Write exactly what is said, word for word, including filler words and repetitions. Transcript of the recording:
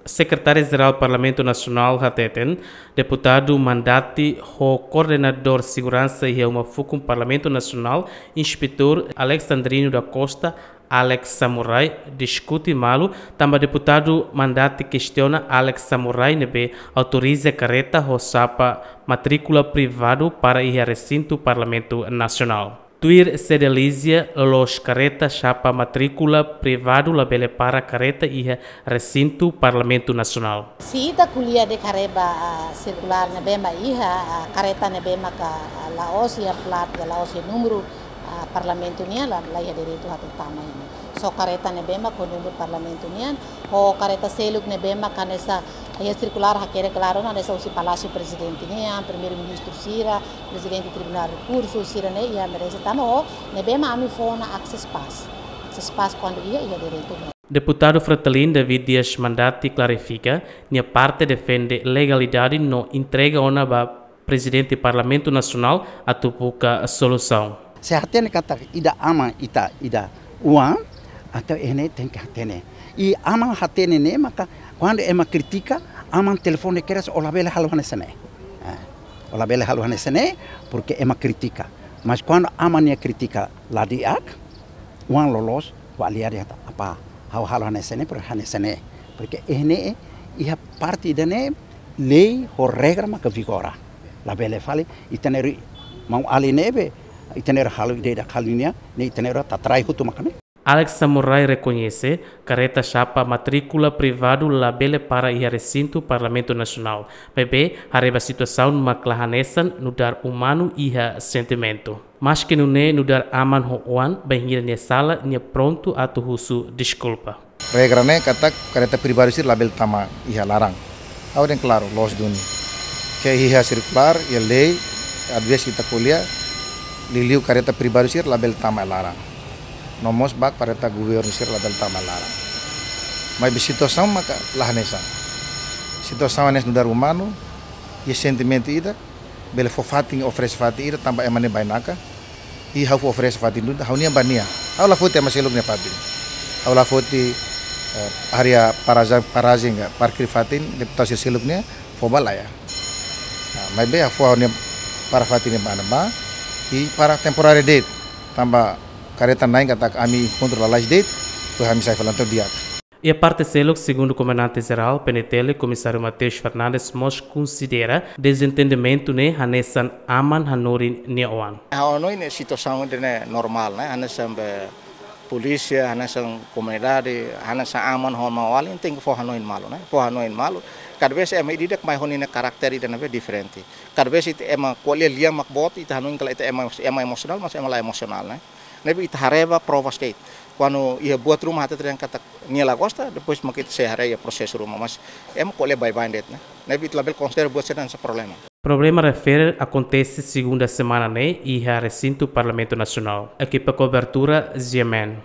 Sekretáriu-Jerál Parlamentu Nasionál hateten, deputadu mandante ho koordenadór seguransa iha uma fukun Parlamentu Nasionál, Inspetór Alexandrino da Costa, Alex Samurai, diskute malu, tanba deputadu mandante kestiona Alex Samurai ne'ebé autoriza karreta ho xapa matríkula privadu para iha resintu Parlamentu Nasionál. Tuir Cedelizia, loloos karreta xapa matríkula privadu labele para karreta iha resintu Parlamentu Nasionál. Se ita ko'alia de'it haree ba, ah, sirkulár ne'ebé mak iha, ah, karreta ne'ebé maka, ah, la'ós iha plat, la'ós iha númeru, ah, Parlamentu nian, la, la iha direitu atu tama iha ne'e. Só karreta ne'ebé mak ho númeru Parlamentu nian, ho karreta seluk ne'ebé mak hanesan iha sirkulár hakerek klaru ona hanesan husi Palásiu Prezidente nian, Primeiru-Ministru sira, Prezidente Tribunál Rekursu sira-ne'e iha merese tama ho ne'ebé mak ami fó ona access pass. Access pass kuandu iha, iha direitu. Deputadu Fretilin David Dias mandante klarifika, nia parte defende legalidade no entrega ona ba Prezidente Parlamentu Nasionál atu buka solusaun. Se hatene katak ida aman ita ida oan, entaun ida-ne'e tenke hatene. I aman hatene ne'e maka kuandu ema kritika, aman telefone kedas, ó labele halo hanesan ne'e. Eh, ó labele halo hanesan ne'e, porke ema kritika. Mas kuandu aman nia kritika la di'ak, oan loloos, ó avaliadu ita, apá, ha'u halo hanesan ne'e, porke hanesan ne'e. Porke ida-ne'e, iha parte ida-ne'e, lei ho regra maka vigora. Labele fali, ita-nia ru-, maun-alin ne'ebé, ita-nia ru halo ida-idak halo nian, ne'e ita-nia ru tatrai hotu maka ne'e. Alex Samurai rekoñese, karreta xapa matríkula privadu labele para iha resintu Parlamentu Nasionál. Maibé, haree ba situasaun mak la hanesan nu'udar umanu iha sentimentu. Maske nune'e nu'udar aman ho oan, bainhira nia sala, nia prontu atu husu deskulpa. Regra ne'e katak karreta privadu sira labele tama iha laran. Ha'u dehan klaru, loos duni. Ke iha sirkulár, iha lei, às vezes ita ko'alia, liuliu karreta privadu sira labele tama iha laran. No mós ba karreta governu sira labele tama iha laran. Maibé situasaun maka la hanesan. Situasaun hanesan nu'udar umanu, iha sentimentu ida, bele fó fatin, oferese fatin ida tanba ema ne'e bainaka. I ha'u fó oferese fatin duni, ha'u-nian ba nia. Ha'u la foti ema seluk nia fatin. Ha'u la foti, eh, área parajen, parajen ka parkir fatin, deputadu sira seluk nian, fó ba laiha. Ah, maibé ha'u fó ha'u-nia para fatin ne'e ba ne'ebá, i para temporáriu de'it. Tanba karreta na'in katak ami enkontru lalais de'it, depois ami sai fali entaun di'ak. Iha parte seluk, segundu Komandante Jerál, P N T L, Komisáriu Mateus Fernandes mós konsidera dezentendimentu ne'e hanesan aman hanorin nia oan. Ha'u hanoin ne'e situasaun ida-ne'e normál, ne'e, hanesan be polísia, hanesan komunidade, hanesan aman ho maun-alin, tenke fó hanoin malu, ne'e, fó hanoin malu. Kada vez ema ida-idak mai ho ninia karakter ida ne'ebé diferente. Kada vez ita ema ko'alia lian mak boot, ita hanoin katak ita ema, ema emosionál, mas ema la emosionál, ne'e. Ne'ebé ita haree ba provas de'it. Kuandu iha buat ruma hateten katak nia la gosta, depois mak ita sei haree iha prosesu ruma, mas ema ko'alia baibain de'it, ne'e. Ne'ebé ita labele konsidera buat sira hanesan problema. Problema refere akontese segunda semana ne'e iha resintu Parlamentu Nasionál. Ekipa kobertura, G M N.